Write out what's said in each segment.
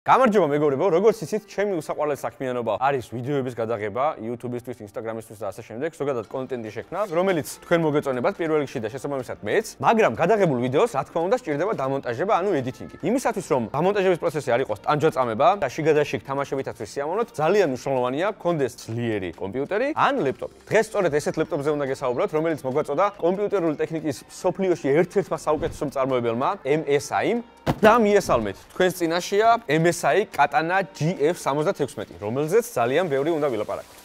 გამარჯობა მეგობრებო, როგორც იცით, ჩემი უსაყვარლესი საქმიანობა არის ვიდეოების გადაღება YouTube-ისთვის, Instagram-ისთვის და ასე შემდეგ, ზოგადად კონტენტი შექმნა, რომელიც თქვენ მოგეწონებათ პირველ რიგში და შესაბამისად მეც, მაგრამ გადაღებულ ვიდეოს რა თქმა უნდა სჭირდება დამონტაჟება, ანუ editing-ი. იმისათვის რომ დამონტაჟების პროცესი არ იყოს ტანჯვაწამება და შიგადაშიგ თამაშებითაც ვისიამოვნოთ, ძალიან მნიშვნელოვანია გქონდეს ძლიერი კომპიუტერი ან ლეპტოპი. დღეს სწორედ ესეთ ლეპტოპზე უნდა გესაუბროთ, რომელიც მოგვაწოდა კომპიუტერული ტექნიკის სოფლიოში ერთ-ერთმა საუკეთესო მწარმოებელმა MSI-მ და მიესალმეთ, თქვენს წინაშეა MSI Katana GF76, რომელზეც ძალიან ბევრი უნდა ვილაპარაკოთ.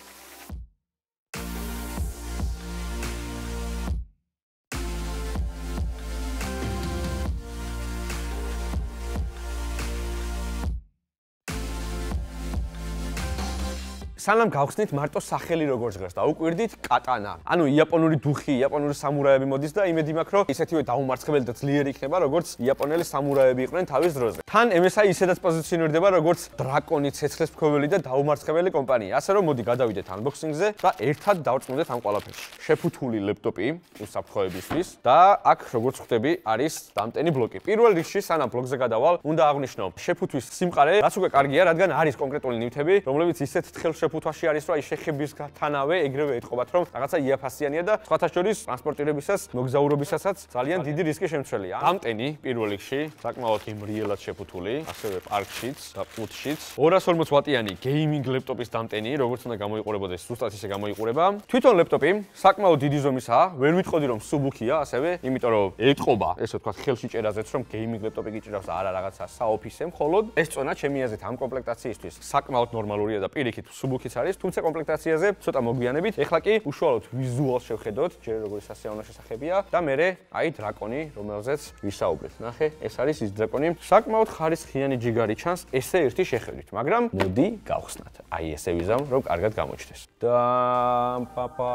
სანამ გავხსნით მარტო სახელი როგორ ჟღერს და უკვირდით კატანა. ანუ იაპონური დუხი, იაპონური სამურაები მოდის და იმედი მაქვს, რომ ისეთივე დაუმარცხებელი და ძლიერი იქნება, როგორც იაპონელი სამურაები იყვნენ თავის დროზე. თან MSI ისედაც პოზიციონირდება, როგორც დრაკონი, ცეცხლის მქონელი და დაუმარცხებელი კომპანია. ასე რომ მოდი გადავიდეთ unboxing-ზე და ერთად დავწმუნდეთ ამ ყველაფერში. შეფუთული ლეპტოპი უსაფრთხოებისთვის და აქ როგორც ხვდები, არის დამტენი ბლოკი. პირველ რიგში სანამ ბლოკზე გადავალ, უნდა აღვნიშნო შეფუთვის სიმყარე, რაც უკვე კარგია, რადგან არის კონკრეტული ნივთები, რომლებიც ისეთ თხელშეფუთვაში არის, რომ აი შეხებისგანავე ეგრევე ეთყობათ, რომ რაღაცა იაფასიანია და სხვათა შორის ტრანსპორტირებისას, მოგზაურობისასაც ძალიან დიდი რისკი შემცველია. დამტენი პირველ რიგში საკმაოდ იმრიელად შეფუთული, ასევე პარკშიც და პუტშიც. 240 ვატიანი გეიმინგ ლეპტოპის დამტენი, როგორც უნდა გამოიყურებოდეს, ზუსტად ისე გამოიყურება. თვითონ ლეპტოპი საკმაოდ დიდი ზომისაა, ვერ ვიტყოდი რომ სუბუქია, ასევე, იმიტომ რომ ეთყობა, ესე ვთქვათ, ხელში ჭერაზეც, რომ გეიმინგ ლეპტოპი გიჭირავს და არა რაღაცა საოფისე მხოლოდ. ეს წონა ჩემი აზრით ამ კომპლექტაციისთვის საკმაოდ ნორმალურია და პირიქით სუბუქიც არის, თუმცა კომპლექტაციაზე ცოტა მოგვიანებით. ეხლა კი უშუალოდ ვიზუალს შევხედოთ, ჯერ როგორი სასიამოვნო შესახებია და მერე აი დრაკონი, რომელზეც ვისაუბრეთ. ნახე, ეს არის ის დრაკონი. საკმაოდ ხარისხიანი ჯიგარი ჩანს ესე ერთი შეხედვით, მაგრამ მოდი გავხსნათ. აი ესე ვიზამ, რომ კარგად გამოჩნდეს. და პაპა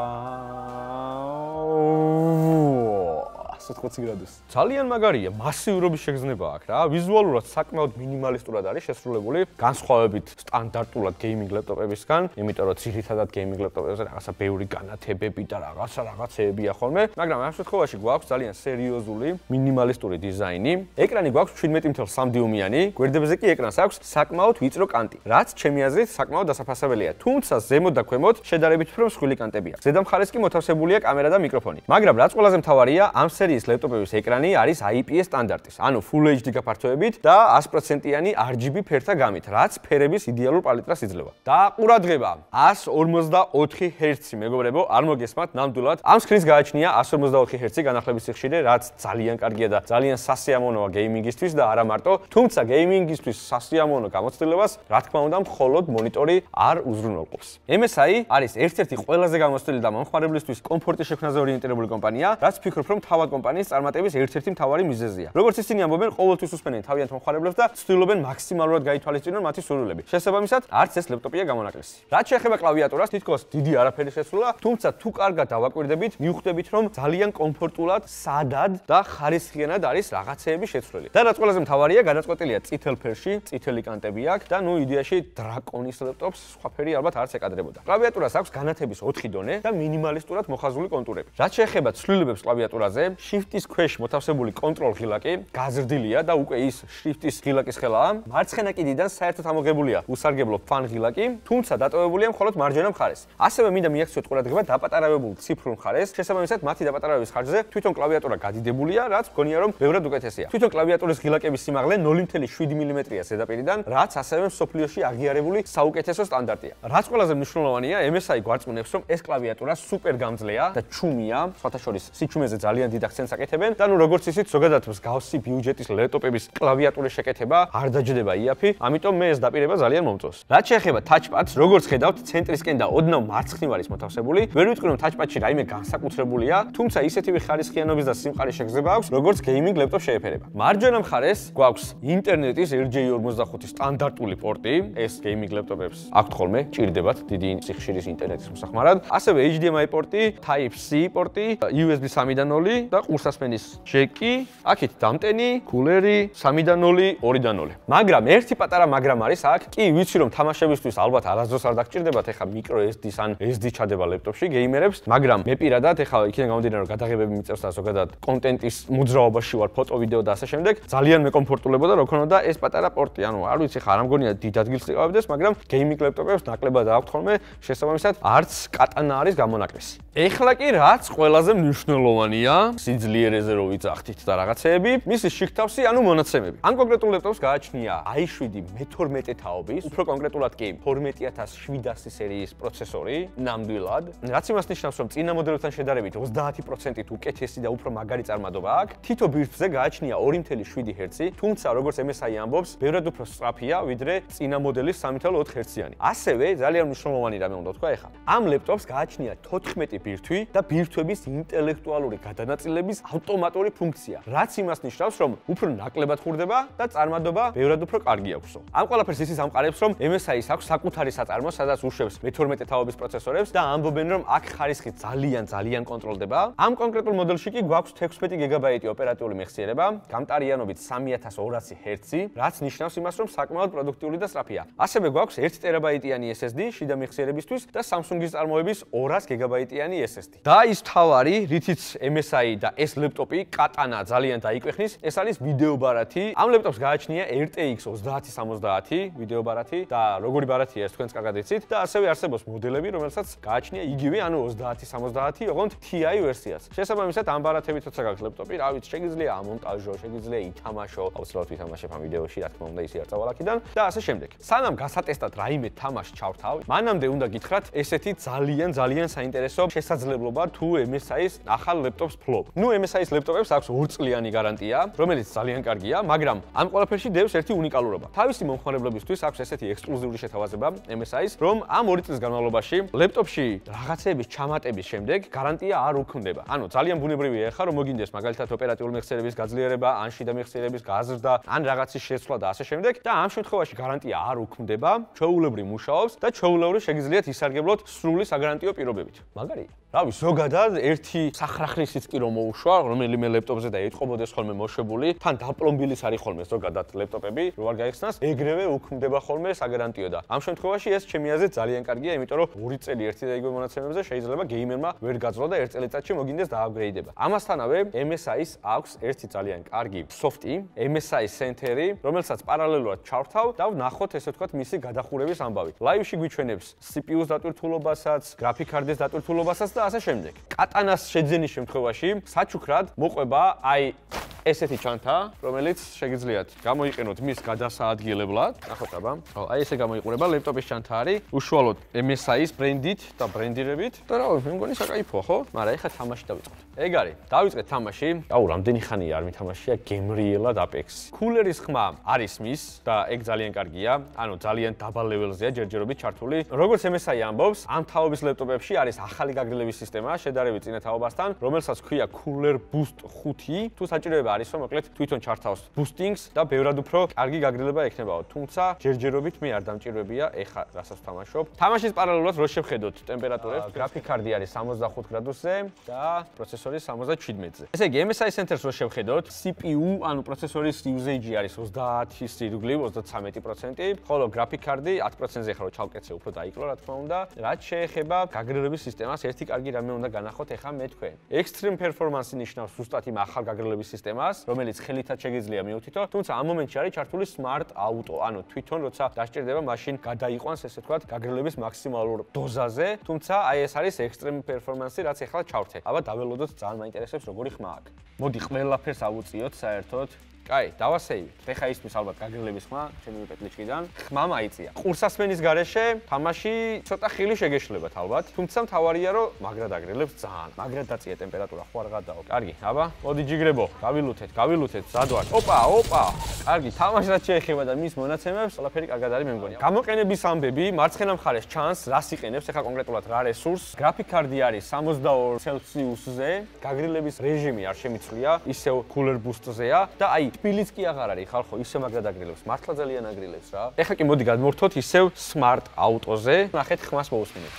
120 გრადუსი. ძალიან მაგარია, მასიურობის შეგრძნება აქვს რა. ვიზუალურად საკმაოდ მინიმალისტურად არის შესრულებული, განსხვავებით სტანდარტულად გეიმინგ ლეპტოპებისგან, იმიტომ რომ ძირითადად გეიმინგ ლეპტოპებზე რაღაცა ბევრი განათებები და რაღაცეებია ხოლმე, მაგრამ ამ შემთხვევაში გვაქვს ძალიან სერიოზული, მინიმალისტური დიზაინი. ეკრანი გვაქვს 17.3 დიუმიანი, გვერდებზე კი ეკრანს აქვს საკმაოდ ვიწრო კანტი, რაც ჩემი აზრით საკმაოდ დასაფასებელია. თუმცა ზემოთ და ქვემოთ შედარებით უფრო მსხვილი კანტებია. ზედა მხარეს კი მოთავსებულია კამერა და მიკროფონი. მაგრამ რაც ყველაზე მთავარია, ამ სერიის ლეპტოპების ეკრანი არის IPS სტანდარტის, ანუ Full HD გაფართოებით და 100%-იანი RGB ფერთა გამით, რაც ფერების იდეალურ პალიტრას იძლევა. და ყურადღება, 144 Hz მეგობრებო, არ მოგესმათ ნამდვილად. ამ სკრინს გააჩნია 144 Hz განახლების სიხშირე, რაც ძალიან კარგია და ძალიან სასიამოვნოა გეიმინგისთვის და არა მარტო, თუმცა გეიმინგისთვის სასიამოვნო გამოცდილებას, რა თქმა უნდა, მხოლოდ მონიტორი არ უზრუნველყოფს. MSI არის ერთ-ერთი ყველაზე გამოცდილი და მომხმარებლისთვის კომფორტის შექმნაზე ორიენტირებული კომპანია, რაც ფიქრობ, რომ თავად კომპანიის წარმატების ერთ-ერთი მთავარი მიზეზია. როგორც ისინი ამბობენ, ყოველთვის უსმენენ თავიანთ მომხმარებლებს და ცდილობენ მაქსიმალურად გაითვალისწინონ მათი სურვილები. შესაბამისად, არც ეს ლეპტოპია გამონაკლისი. რაც შეეხება კლავიატურას, თითქოს დიდი არაფერი შეცვლა, თუმცა თუ კარგად დავაკვირდებით, მივხვდებით, რომ ძალიან კომფორტულად, სადად და ხარისხიანად არის რაღაცეები შეცვლილი. და რაც ყველაზე მთავარია, გადაწყვეტილია წითელ ფერში, წითელი კანტები აქვს და ნუ იდეაში დრაკონის ლეპტოპს სხვა ფერი ალბათ არც ეკადრებოდა. კლავიატურას აქვს განათების 4 დონე და მინიმალისტურად მოხაზული კონტურები. რაც შეეხება ცვლილებებს კლავიატურაზე, Shift-ის ქვეშ მოთავსებული კონტროლ ღილაკი გაზრდილია და უკვე ის Shift-ის ღილაკის ხელაა. მარცხენა კიდიდან საერთოდ ამოღებულია უსარგებლო ფან ღილაკი, თუმცა დატოვებულია მხოლოდ მარჯვენა მხარეს. ასევე მინდა მიაქციოთ ყურადღება დაპატარავებულ ციფრულ მხარეს. შესაბამისად, მათი დაპატარავების ხარჯზე თვითონ კლავიატურა გადიდებულია, რაც მგონია რომ ბევრად უკეთესია. თვითონ კლავიატურის ღილაკების სიმაღლე 0.7 მმ-ია ზედაპირიდან, რაც ასევე მსოფლიოში აღიარებული საუკეთესო სტანდარტია. რაც ყველაზე მნიშვნელოვანია, MSI გვარწმუნებს, რომ ეს კლავიატურა სუპერ გამძლეა და ჩუმია, სხვათა შორის სიჩუმეზე ძალიან დიდ აქცენტს აკეთებენ და ნუ როგორც იცით, ზოგადად მსგავსი ბიუჯეტის ლეპტოპების კლავიატურის შეკეთება არ დაჯდება იაფი, ამიტომ მე ეს დაპირება ძალიან მომწონს. რაც შეეხება touchpad-ს, როგორც ხედავთ, ცენტრისკენ და ოდნავ მარცხნივ არის მოთავსებული. ვერ ვიტყვი, რომ touchpad-ში რაიმე განსაკუთრებულია, თუმცა ისეთივე ხარისხიანობის და სიმყარის შეგრძნება აქვს, როგორც გეიმინგ ლეპტოპს შეეფერება. მარჯვენა მხარეს გვაქვს ინტერნეტის RJ45 სტანდარტული პორტი, ეს გეიმინგ ლეპტოპებს აქვთ ხოლმე, ჭირდებათ დიდი სიხშირის ინტერნეტის მოსახმარად. ასევე HDMI პორტი, Type-C პორტი, USB 3.0 და ყურსასმენის ჯეკი, აქეთ დამტენი, კულერი, 3-დან 0, 2-დან 0. მაგრამ ერთი პატარა მაგრამ არის აქ. კი, ვიცი რომ თამაშებისთვის ალბათ არასდროს არ დაგჭირდებათ ეხა micro SD-ს ან SD ჩადება ლეპტოპში გეიმერებს, მაგრამ მე პირადად ეხა იქიდან გამომდინარე რომ გადაღებები მიწევს და ზოგადად კონტენტის მოძრაობაში ვარ, ფოტო, ვიდეო და ასე შემდეგ, ძალიან მეკომფორტულებოდა რომ ქონოდა ეს პატარა პორტი. ანუ არ ვიცი ხა არ მგონია დიდ ადგილს იყავებდეს, მაგრამ გეიმინგ ლეპტოპებს ნაკლებად აქვთ ხოლმე, შესაბამისად არც კატანა არის გამონაკლისი. ეხლა კი რაც ყველაზე მნიშვნელოვანია, სიძლიერეზე რო ვიძახთით და რაღაცეები, მისი შიგთავსი, ანუ მონაცემები. ამ კონკრეტულ ლეპტოპს გააჩნია i7 მე-12 თაობის, უფრო კონკრეტულად კი 12700 სერიის პროცესორი, ნამდვილად. რაც იმას ნიშნავს, რომ წინა მოდელებთან შედარებით 30%-ით უკეთესი და უფრო მაგარი წარმადობა აქვს. თითო ბირთვზე გააჩნია 2.7 ჰერცი, თუმცა როგორც MSI ამბობს, ბევრად უფრო სწრაფია, ვიდრე წინა მოდელის 3.4 ჰერციანი. ასევე ძალიან მნიშვნელოვანი რამე უნდა თქვა ეხლა. ამ ლეპტოპს გააჩნია 14 ბირთვი და ბირთვების ინტელექტუალური გადანაწილების ავტომატური ფუნქცია, რაც იმას ნიშნავს, რომ უფრო ნაკლებად ხურდება და წარმადობა ბევრად უფრო კარგი აქვსო. ამ ყველაფერს ისიც ამყარებს, რომ MSI-ს აქვს საკუთარი საწარმო, სადაც უშვებს მე-12 თაობის პროცესორებს და ამბობენ, რომ აქ ხარისხი ძალიან კონტროლდება. ამ კონკრეტულ მოდელში კი გვაქვს 16 გიგაბაიტი ოპერატიული მეხსიერება, გამტარიანობით 3200 ჰერცი, რაც ნიშნავს იმას, რომ საკმაოდ პროდუქტიული და სწრაფია. ასევე გვაქვს 1 ტერაბაიტიანი SSD შიდა მეხსიერებისთვის და Samsung-ის წარმოების 200 გიგაბაიტიანი SSD. და ის თავარი, რითიც MSI და ეს ლეპტოპი კატანა ძალიან დაიკვეხნის, ეს არის ვიდეო ბარათი. ამ ლეპტოპს გააჩნია RTX 3070 ვიდეო ბარათი და როგორი ბარათია ეს თქვენც კარგად იცით და ასევე არსებობს მოდელები, რომელსაც გააჩნია იგივე, ანუ 3070, ოღონდ TI ვერსიაც. შესაბამისად, ამ ბარათებით როცა გაქვს ლეპტოპი, რა ვიცი, შეგიძლია ამონტაჟო, შეგიძლია ითამაშო, აუცილებლად ვითამაშებ ამ ვიდეოში, რა თქმა უნდა, ისი არ წავალ აქედან და ასე შემდეგ. სანამ გასატესტად რაიმე თამაშს ჩავთავ, მანამდე უნდა გითხრათ ესეთი ძალიან საინტერესო შესაძლებლობა თუ MSI-ს ახალ ლეპტოპს ფლობ. ნუ MSI-ს ლეპტოპებს აქვს 2 წლიანი გარანტია, რომელიც ძალიან კარგია, მაგრამ ამ ყველაფერში დევს ერთი უნიკალურობა. თავისი მომხმარებლებისთვის აქვს ესეთი ექსკლუზიური შეთავაზება MSI-ს, რომ ამ 2 წლის განმავლობაში ლეპტოპში რაღაცეების ჩამატების შემდეგ გარანტია არ უქმდება. ანუ ძალიან ბუნებრივია ახლა რომ მოგინდეს მაგალითად ოპერატიული მეხსიერების გაძლიერება, ან შიდა მეხსიერების გაზრდა, ან რაღაცის შეცვლა და ასე შემდეგ და ამ შემთხვევაში გარანტია არ უქმდება, ჩვეულებრივ მუშაობს და ჩვეულებრივ შეგიძლიათ ისარგებლოთ სრული საგარანტიო პირობებით. მაგარია. რავი, ზოგადად ერთი სახრახლისიც კი რომ მოუშვა, რომელიმე ლეპტოპზე და ეთყობოდეს ხოლმე მოშვებული, თან დაპლომბილის არის ხოლმე ზოგადად ლეპტოპები, რო არ გაიხსნას, ეგრევე უქმდება ხოლმე საგარანტიო და ამ შემთხვევაში ეს ჩემი აზრით ძალიან კარგია, იმიტომ რომ 2 წელი ერთი და იგივე მონაცემებზე შეიძლება გეიმერმა ვერ გაძლო და 1 წელიწადში მოგინდეს დააპგრეიდება. ამასთანავე MSI-ს აქვს ერთი ძალიან კარგი სოფტი, MSI Center-ი, რომელსაც პარალელურად ჩავთავ და ვნახოთ ესე ვთქვათ მისი გადახურების ამბავი. ლაივში გვიჩვენებს CPU-ს დატვირთულობასაც, გრაფიკ კარდის დატვირთულობასაც და ასე შემდეგ. კატანას შეძენის შემთხვევაში საჩუქრად მოყვება აი ესეთი ჩანთა, რომელიც შეგიძლიათ გამოიყენოთ მის გადასაადგილებლად. ნახოთ აბა. აი ესე გამოიყურება ლეპტოპის ჩანთა არის, უშუალოდ MSI-ის ბრენდით და ბრენდირებით. და რა ვიცი, მე მგონი საკაიფოა, ხო? მაგრამ ეხლა თამაში დავიწყოთ. ეგ არის. დავიწყეთ თამაში. აუ, რამდენი ხანია არ მითამაშია გემრიელად Apex-ი. კულერის ხმა არის მის და ეგ ძალიან კარგია. ანუ ძალიან დაბალ ლეველზეა ჯერჯერობით ჩართული. როგორც MSI ამბობს, ამ თაობის ლეპტოპებში არის ახალი გაგრძელების სისტემა, შედარებით წინა თაობასთან, რომელსაც ჰქვია Cooler Boost 5, თუ საჭიროება არის, რომ მოკლედ თვითონ ჩართავს boosting-ს და ბევრად უფრო კარგი გაგრძელება ექნებაო. თუმცა ჯერჯერობით მე არ დამჭირვებია ეხა რასაც ვთამაშობ. თამაშის პარალელურად რო შევხედოთ ტემპერატურებს, გრაფიკ კარდი არის 65 გრადუსზე და პროცესორი 77-ზე. ესე იგი, MSI Center-ს რო შევხედოთ, CPU, ანუ პროცესორის usage არის 30-ის ირგვლივ, 33%, ხოლო გრაფიკ კარდი 10%-ზე ხარო ჩავკეცე, უფრო დაიკლო, რა თქმა უნდა. რაც შეეხება გაგრძელების სისტემას, ერთი კარგი რამე უნდა განახოთ ეხა მე თქვენ. Extreme Performance ნიშნავს ზუსტად იმ ახალ გაგრძელების სისტემას, რომელიც ხელითაც შეგიძლია მიუთითო, თუმცა ამ მომენტში არის ჩართული Smart Auto, ანუ თვითონ როცა დასჭირდება, მაშინ გადაიყვანს ესე ვთქვათ გაგრძელების მაქსიმალურ დოზაზე, თუმცა აი ეს არის Extreme Performance, რაც ეხლა ჩავრთე. აბა დაველოდოთ, ძალიან მაინტერესებს როგორი ხმა აქვს. მოდი ყველაფერს ავუწიოთ საერთოდ. კაი, დავასეივით. ეხა ისმის ალბათ გაგრძელების ხმა, ჩემი პეტლიჩკიდან. ხმა მაიწია. ყურსასმენის გარეშე თამაში ცოტა ხილი შეგეშლებათ ალბათ, თუმცა მთავარია რომ მაგრად აგრელებს ძალიან. მაგრად დაწია ტემპერატურა, ხო არ გადაო. კარგი, აბა, მოდი ჯიგრებო, გავილუთეთ, ზადვარ. ოპა. კარგი, თამაშს შეეხება და მის მონაცემებს, ყველაფერი კარგად არის მე მგონი. გამოყენების ამბები, მარცხენა მხარეს ჩანს, რას იყენებს, ეხა კონკრეტულად რა რესურს. გრაფიკ კარდი არის 62 ცელსიუსზე, გაგრძელების რეჟიმი არ შემიცვლია, ისევ Cooler Boost-ზეა და აი თბილიც კი აღარ არის ხალხო, ისე მაგრად აგრილებს, მართლა ძალიან აგრილებს რა. ეხლა კი მოდი გადმოვრთოთ ისევ Smart Auto-ზე. ნახეთ ხმას მოусმინეთ.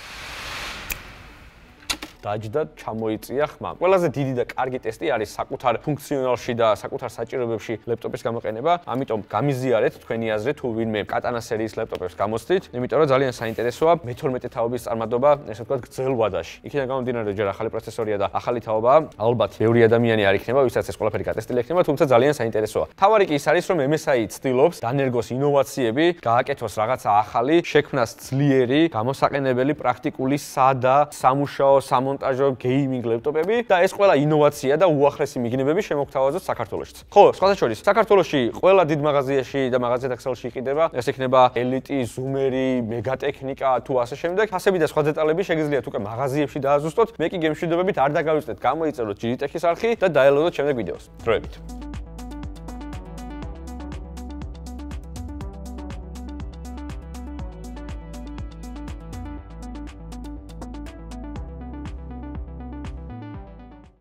დაჯდა, ჩამოიწია ხმა. ყველაზე დიდი და კარგი ტესტი არის საკუთარ ფუნქციონალში და საკუთარ საჭიროებებში ლეპტოპის გამოყენება. ამიტომ გამიზიარეთ თქვენი აზრი თუ ვინმე კატანა სერიის ლეპტოპებს გამოსცით, იმიტომ რომ ძალიან საინტერესოა მე-12 თაობის წარმატება, ესე ვთქვათ, გრძელ ვადაში. იქიდან გამომდინარე, ჯერ ახალი პროცესორია და ახალი თაობაა, ალბათ ბევრი ადამიანი არ იქნება, ვისაც ეს ყველაფერი გატესტილი ექნება, თუმცა ძალიან საინტერესოა. თავარი კი ის არის, რომ MSI ცდილობს დანერგოს ინოვაციები, გააკეთოს რაღაცა ახალი, შექმნას ძლიერი, გამოსაყენებელი, პრაქტიკული, სადა, სამუშაო, სამონტაჟო გეიმინგ ლეპტოპები და ეს ყველა ინოვაცია და უახლესი მიგნებები შემოგთავაზოთ საქართველოშიც. ხო, სხვათა შორის, საქართველოში ყველა დიდ მაღაზიაში და მაღაზიათა ქსელში იყიდება, ეს იქნება ელიტი, ზუმერი, მეგატექნიკა თუ ასე შემდეგ. ფასები და სხვა დეტალები შეგიძლიათ უკვე მაღაზიებში დააზუსტოთ. მე კი გემშვიდობებით არ დაგავიწყდეთ, გამოიწეროთ GTech-ის არხი და დაელოდოთ შემდეგ ვიდეოს. დროებით.